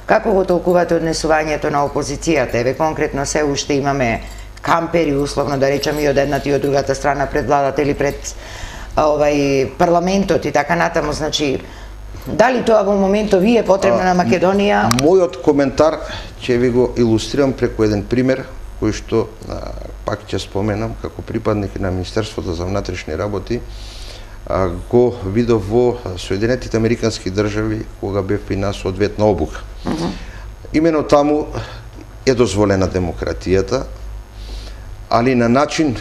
Како го толкувате однесувањето на опозицијата? Еве конкретно се уште имаме кампери, условно да речеме, и од едната и од другата страна пред владата или пред парламентот и така натаму, значи дали тоа во моментов ви е потребно на Македонија? Мојот коментар ќе ви го илустрирам преку еден пример кој што пак ќе споменам како припадник на Министерството за внатрешни работи, го видов во Соединетите Американски држави кога бев и на соодветна обука. Имено таму е дозволена демократијата, али на начин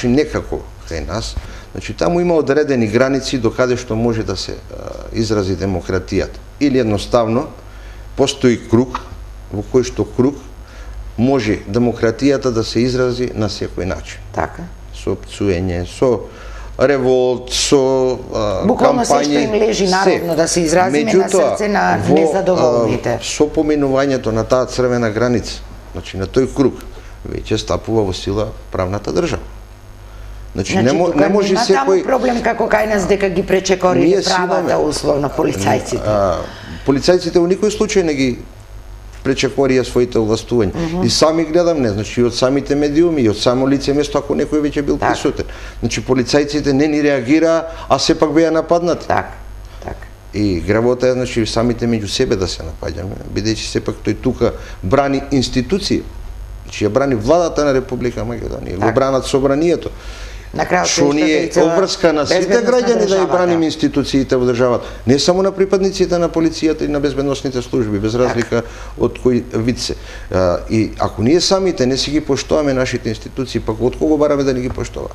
некако кај нас. Значи, таму има одредени граници до каде што може да се изрази демократијата. Или едноставно, постои круг, во кој што круг може демократијата да се изрази на секој начин. Така. Со пцуење, со револт, со буквално кампањи. се што им лежи народно да се изразиме на срце на незадоволните. Со поминувањето на таа црвена граница, значи на тој круг, веќе стапува во сила правната држава. Значи, не може секој... Таму проблем како кај нас дека ги пречекориле правата условно полицајците. Полицајците во никој случај не ги пречекорија своите овластувања. И сами гледам, не, значи и од самите медиуми, и од само лице место, ако некој веќе бил присутен. Значи полицајците не ни реагираа, а сепак беа нападнати. Така. И гработа е, значи, самите меѓу себе да се напаѓаме, бидејќи сепак тој тука брани институција, значи ја брани владата на Република Македонија, го бранат собранието. Што ни е обврска на сите граѓани да ја браним институциите во државата, не само на припадниците на полицијата и на безбедносните служби, без разлика од кој вид се. И ако ние самите не си ги поштоваме нашите институции, пак од кого бараме да ни ги поштова?